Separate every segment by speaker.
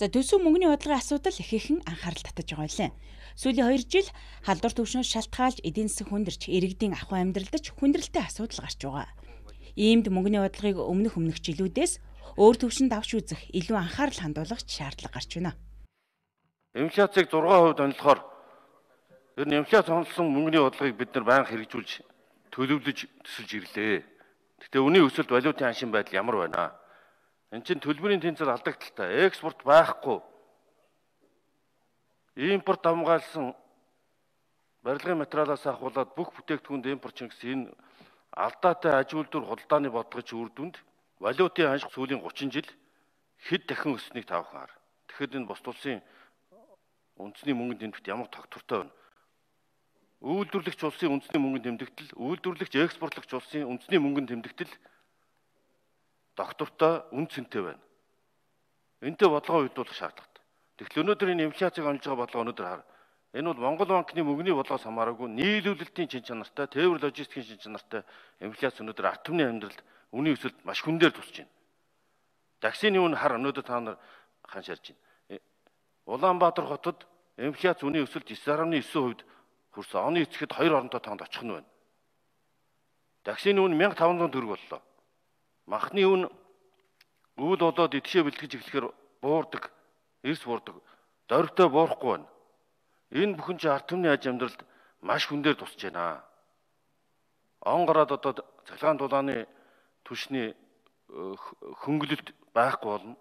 Speaker 1: За төсөв мөнгөний бодлогын асуудал ихээхэн анхаарал татаж байгаа юм. Сүүлийн 2 жил халдвар төвшнөөс шалтгаалж эдийн засаг хүндэрч иргэдийн ахуй амьдралд ч хүндрэлтэй асуудал гарч байгаа. Иймд мөнгөний бодлогыг өмнөх жилүүдээс өөр төвшөнд авч үзэх, илүү анхаарал хандуулах шаардлага гарч байна.
Speaker 2: Инфляцийг 6% онолохоор ер нь инфляц онолсон мөнгөний бодлогыг бид нар байнга хэрэгжүүлж төлөвлөж төсөлж ирлээ. Гэхдээ үнийн өсөлт валютын аншин байдал ямар байна? Энд чинь төлбөрийн тэнцэл алдагдaltaй, экспорт байхгүй. Импорт хамгаалсан барилгын материалаас ахуулаад бүх бүтээгдэхүүнд импорт гэсэн энэ алдаатай аж үйлдвэр худалдааны бодлогын үр дүнд валютын анш сүүлийн 30 жил хэд дахин өссөнийг та бүхэн хар. Тэгэхэд энэ бус улсын үндэсний мөнгөнд нэмэгдэлт ямар тогтвортой байна? Үйлдвэрлэгч улсын үндэсний мөнгөнд нэмэгдэл, үйлдвэрлэгч экспортлогч улсын үндэсний мөнгөнд нэмэгдэл доктортой үн цэнтэй байна. Энтэй бодлогоо үйдүүлэх шаардлагатай. Тэгэхээр өнөөдөр энэ инфляцийг онж байгаа бодлого өнөөдөр хар. Энэ бол Монгол банкны мөнгөний бодлогоос хамаараагүй нийлүүлэлтийн чин чанартай, тээвэр логистикийн чин чанартай инфляц өнөөдөр ард түмний амьдралд үнийн өсөлт маш хүндээр тусч байна. Таксины үн хар өнөөдөр та нар ханшаарч байна. Улаанбаатар хотод инфляц үнийн өсөлт 9.9% хүрсэн. Оны эцэхэд 2 оронтой тоонд очих нь байна. Таксины үн 1500 төгрөг боллоо. Махны үн үйл болоод идэвхтэй бэлтгэж эхлэхээр буурдаг, эрс буурдаг, дорвтой буурахгүй байна. Энэ бүхэн чинь ард түмний аж амьдралд маш хүндээр тусч байна. Он гараад одоо цахилгаан дулааны түвшний хөнгөлөлт байхгүй болно.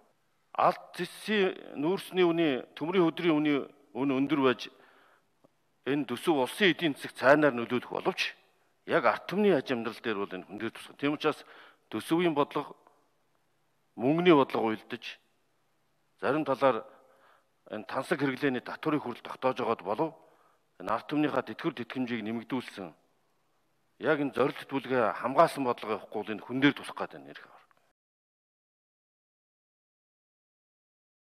Speaker 2: Алт зэсийн нүүрсний үний, төмрийн хөдрийн үний үн өндөр байж энэ төсөв улсын эдийн засаг цайнаар нөлөөлөх боловч яг ард түмний аж амьдрал дээр бол энэ хүндээр тусах. Тийм учраас төсөвийн бодлого мөнгөний бодлого уйлдаж зарим талаар энэ тансаг хэрэглээний татврын хүрэл тогтоож байгаад болов энэ ард түмнийхаа тэтгэвэр тэтгэмжийг нэмэгдүүлсэн яг энэ зорилт бүлгээ хамгаалсан бодлого явахгүй бол энэ хүндээр тусах гэдэг нь ирэх.